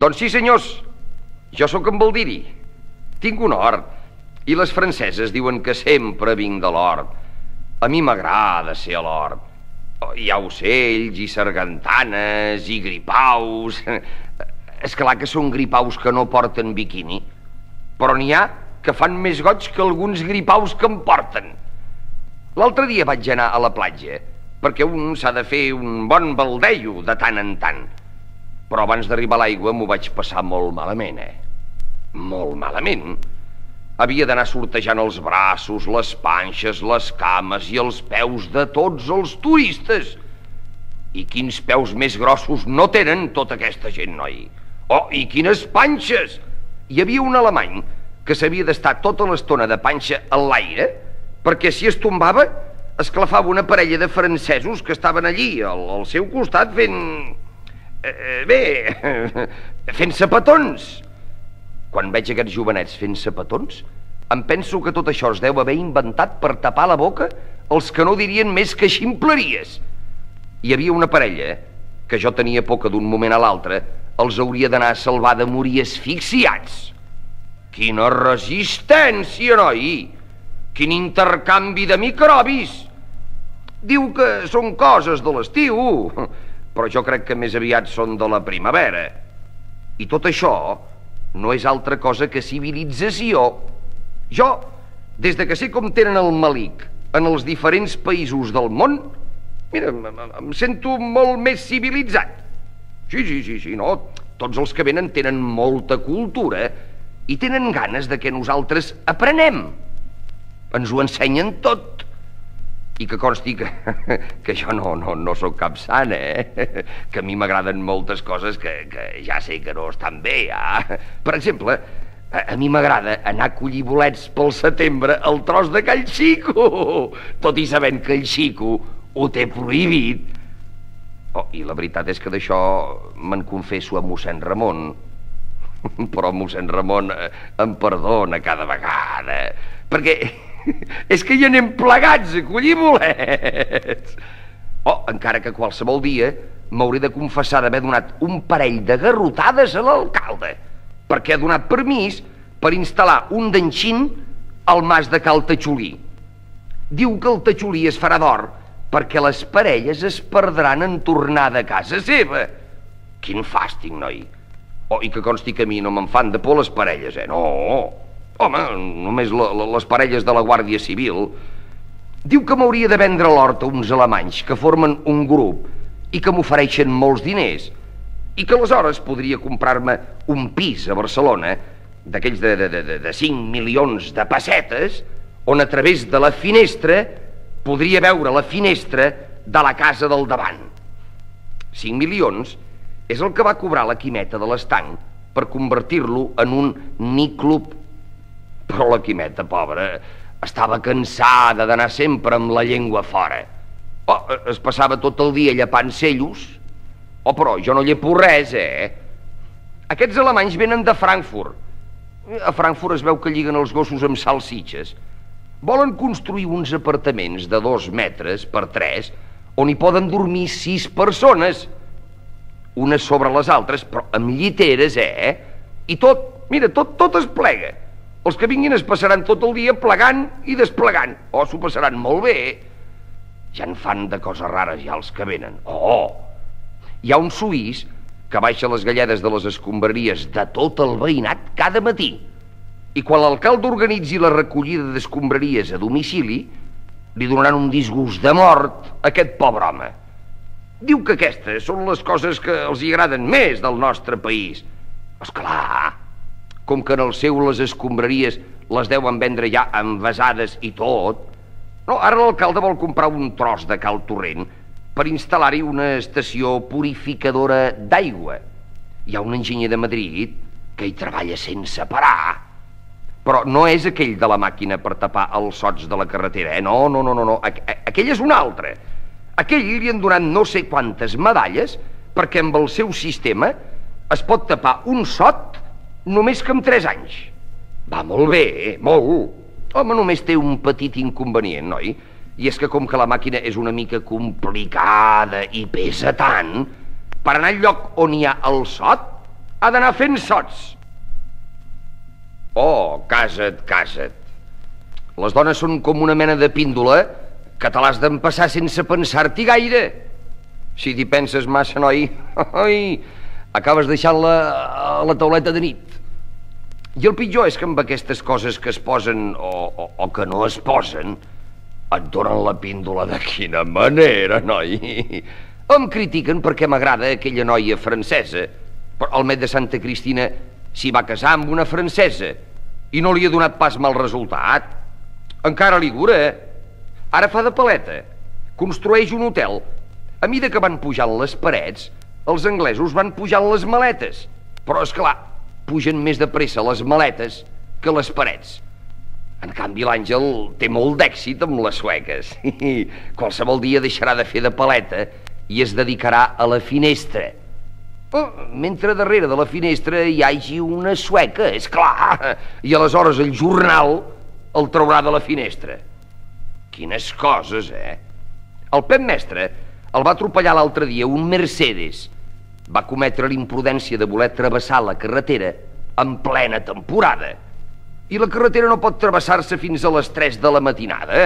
Doncs sí, senyors, jo sóc en Baldiri. Tinc un hort, i les franceses diuen que sempre vinc de l'hort. A mi m'agrada ser a l'hort. Hi ha ocells i sargantanes i gripaus. És clar que són gripaus que no porten biquini, però n'hi ha que fan més goig que alguns gripaus que en porten. L'altre dia vaig anar a la platja, perquè un s'ha de fer un bon baldeio de tant en tant. Però abans d'arribar a l'aigua m'ho vaig passar molt malament, Molt malament. Havia d'anar sortejant els braços, les panxes, les cames i els peus de tots els turistes. I quins peus més grossos no tenen tota aquesta gent, noi? Oh, i quines panxes! Hi havia un alemany que s'havia d'estar tota l'estona de panxa a l'aire perquè si es tombava esclafava una parella de francesos que estaven allí al seu costat fent-se petons. Quan veig aquests jovenets fent-se petons, em penso que tot això es deu haver inventat per tapar la boca els que no dirien més que ximpleries. Hi havia una parella que jo tenia por que d'un moment a l'altre els hauria d'anar a salvar de morir asfixiats. Quina resistència, noi! Quin intercanvi de microbis! Diu que són coses de l'estiu, però jo crec que més aviat són de la primavera. I tot això no és altra cosa que civilització. Jo, des de que sé com tenen el melic en els diferents països del món, mira, em sento molt més civilitzat. Sí, no? Tots els que venen tenen molta cultura i tenen ganes de que nosaltres aprenem. Ens ho ensenyen tot. I que consti que jo no sóc cap sant, que a mi m'agraden moltes coses que ja sé que no estan bé, Per exemple, a mi m'agrada anar a collir bolets pel setembre al tros de Call Xico, tot i sabent que el Xico ho té prohibit. Oh, i la veritat és que d'això me'n confesso a mossèn Ramon. Però mossèn Ramon em perdona cada vegada, perquè és que hi anem plegats a collir bolets. Oh, encara que qualsevol dia m'hauré de confessar d'haver donat un parell de garrotades a l'alcalde, perquè ha donat permís per instal·lar un denxin al mas de Cal Tatxolí. Diu que el Tatxolí es farà d'or perquè les parelles es perdran en tornar de casa seva. Quin fàstic, noi. Oh, i que consti que a mi no me'n fan de por les parelles, No. Home, només les parelles de la Guàrdia Civil. Diu que m'hauria de vendre l'hort a uns alemanys que formen un grup i que m'ofereixen molts diners i que aleshores podria comprar-me un pis a Barcelona d'aquells de 5 milions de pessetes on a través de la finestra podria veure la finestra de la casa del davant. 5 milions és el que va cobrar la Quimeta de l'Estanc per convertir-lo en un niclub. Però la Quimeta, pobra, estava cansada d'anar sempre amb la llengua fora. Oh, es passava tot el dia llepant cellos. Oh, però jo no llepo res, Aquests alemanys venen de Frankfurt. A Frankfurt es veu que lliguen els gossos amb salsitxes. Volen construir uns apartaments de 2 metres per 3 on hi poden dormir 6 persones, unes sobre les altres, però amb lliteres, I tot, mira, tot es plega. Els que vinguin es passaran tot el dia plegant i desplegant. Oh, s'ho passaran molt bé. Ja en fan de coses rares ja els que venen. Oh, hi ha un suís que baixa les galledes de les escombraries de tot el veïnat cada matí. I quan l'alcalde organitzi la recollida d'escombraries a domicili, li donaran un disgust de mort a aquest pobre home. Diu que aquestes són les coses que els hi agraden més del nostre país. Esclar, com que en el seu les escombraries les deuen vendre ja envasades i tot. No, ara l'alcalde vol comprar un tros de Cal Torrent per instal·lar-hi una estació purificadora d'aigua. Hi ha un enginyer de Madrid que hi treballa sense parar. Però no és aquell de la màquina per tapar els sots de la carretera, No. Aquell és un altre. Aquell li han donat no sé quantes medalles perquè amb el seu sistema es pot tapar un sot només que amb 3 anys. Va molt bé, molt. Home, només té un petit inconvenient, noi? I és que com que la màquina és una mica complicada i pesa tant, per anar al lloc on hi ha el sot Ha d'anar fent sots. Oh, casa't, casa't. Les dones són com una mena de píndola que te l'has d'empassar sense pensar-t'hi gaire. Si t'hi penses massa, noi, acabes deixant-la a la tauleta de nit. I el pitjor és que amb aquestes coses que es posen o que no es posen et donen la píndola de quina manera, noi. Em critiquen perquè m'agrada aquella noia francesa, però el met de Santa Cristina s'hi va casar amb una francesa i no li ha donat pas mal resultat. Encara li dura. Ara fa de paleta, construeix un hotel. A mida que van pujant les parets, els anglesos van pujant les maletes. Però, és clar, pugen més de pressa les maletes que les parets. En canvi, l'Àngel té molt d'èxit amb les sueques. Qualsevol dia deixarà de fer de paleta i es dedicarà a la finestra. Mentre darrere de la finestra hi hagi una sueca, és clar, i aleshores el jornal el traurà de la finestra. Quines coses, El Pep Mestre el va atropellar l'altre dia un Mercedes. Va cometre l'imprudència de voler travessar la carretera en plena temporada. I la carretera no pot travessar-se fins a les 3 de la matinada,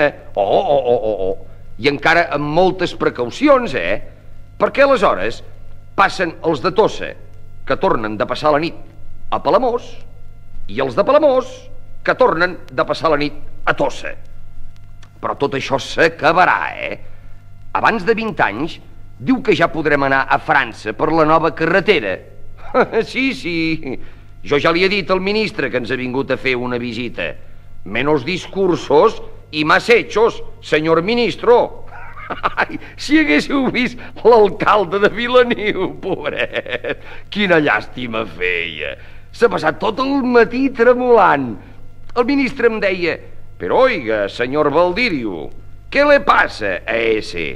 I encara amb moltes precaucions, Perquè aleshores passen els de Tossa, que tornen de passar la nit a Palamós, i els de Palamós, que tornen de passar la nit a Tossa. Però tot això s'acabarà, Abans de 20 anys, diu que ja podrem anar a França per la nova carretera. Sí. Jo ja li he dit al ministre que ens ha vingut a fer una visita. Menos discursos y más hechos, señor ministro. Si haguéssiu vist l'alcalde de Vilaniu, pobret, quina llàstima feia. S'ha passat tot el matí tremolant. El ministre em deia: «Però oiga, senyor Valdirio, què le passa a ese?»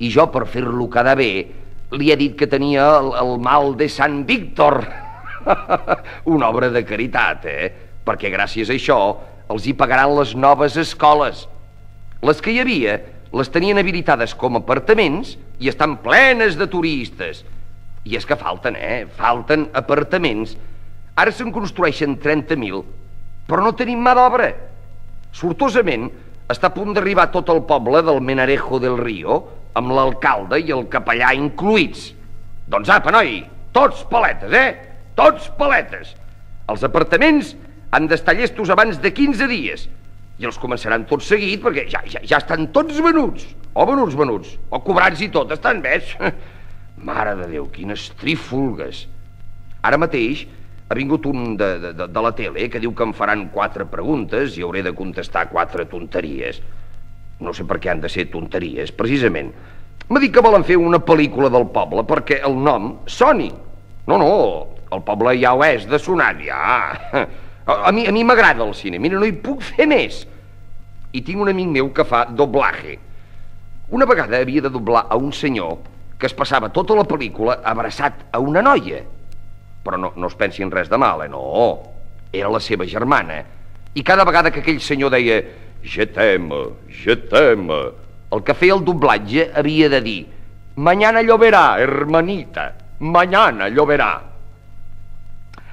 I jo, per fer-lo quedar bé, li he dit que tenia el mal de Sant Víctor. Una obra de caritat, Perquè gràcies a això els hi pagaran les noves escoles. Les que hi havia les tenien habilitades com a apartaments i estan plenes de turistes. I és que falten, Falten apartaments. Ara se'n construeixen 30.000, però no tenim mà d'obra. Sortosament, està a punt d'arribar tot el poble del Menarejo del Río, amb l'alcalde i el capellà incluïts. Doncs apa, noi, tots paletes, Tots paletes. Els apartaments han d'estar llestos abans de 15 dies i els començaran tot seguit perquè ja estan tots venuts. O venuts, o cobrats i tot, estan bé. Mare de Déu, quines trífolgues. Ara mateix ha vingut un de la tele que diu que em faran 4 preguntes i hauré de contestar 4 tonteries. No sé per què han de ser tonteries, precisament. M'ha dit que volen fer una pel·lícula del poble perquè el nom soni. No, el poble ja ho és de sonar, ja. A mi m'agrada el cine, mira, no hi puc fer més. I tinc un amic meu que fa doblaje. Una vegada havia de doblar a un senyor que es passava tota la pel·lícula abraçat a una noia. Però no es pensi en res de mal, no. Era la seva germana. I cada vegada que aquell senyor deia «Je t'aime, el que feia el doblatge havia de dir «Mañana lloverà, hermanita, mañana lloverà».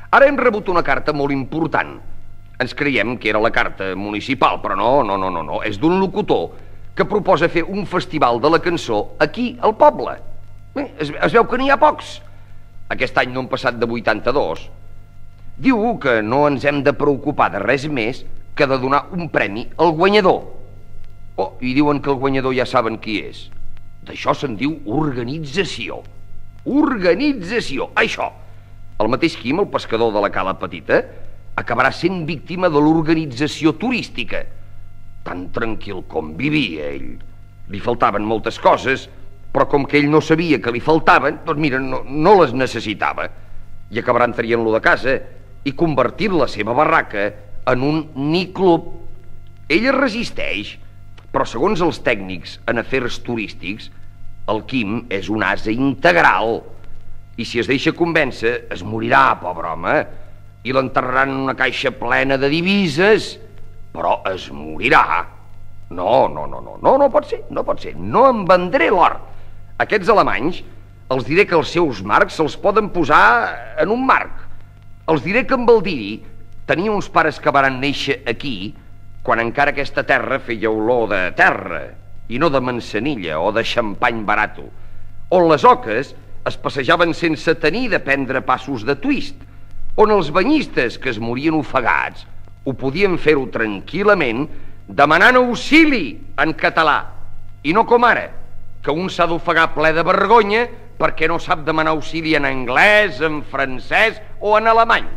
Ara hem rebut una carta molt important. Ens creiem que era la carta municipal, però no. És d'un locutor que proposa fer un festival de la cançó aquí, al poble. Es veu que n'hi ha pocs. Aquest any no han passat de 82. Diu que no ens hem de preocupar de res més que de donar un premi al guanyador. I diuen que el guanyador ja saben qui és. D'això se'n diu organització. Organització, això. El mateix Quim, el pescador de la Cala Petita, acabarà sent víctima de l'organització turística. Tan tranquil com vivia ell. Li faltaven moltes coses, però com que ell no sabia que li faltaven, doncs mira, no les necessitava. I acabaran traient-lo de casa i convertint la seva barraca en un niclub. Ell es resisteix, però segons els tècnics en afers turístics, el Quim és un ase integral. I si es deixa convèncer, es morirà, pobre home, i l'enterraran en una caixa plena de divises, però es morirà. No pot ser. No em vendré l'or. Aquests alemanys Els diré que els seus marcs se'ls poden posar en un marc. Els diré que en Baldiri tenia uns pares que varen néixer aquí quan encara aquesta terra feia olor de terra i no de manzanilla o de xampany barato, on les oques es passejaven sense tenir de prendre passos de twist, on els banyistes que es morien ofegats ho podien fer-ho tranquil·lament demanant auxili en català, i no com ara, que un s'ha d'ofegar ple de vergonya perquè no sap demanar auxili en anglès, en francès o en alemany.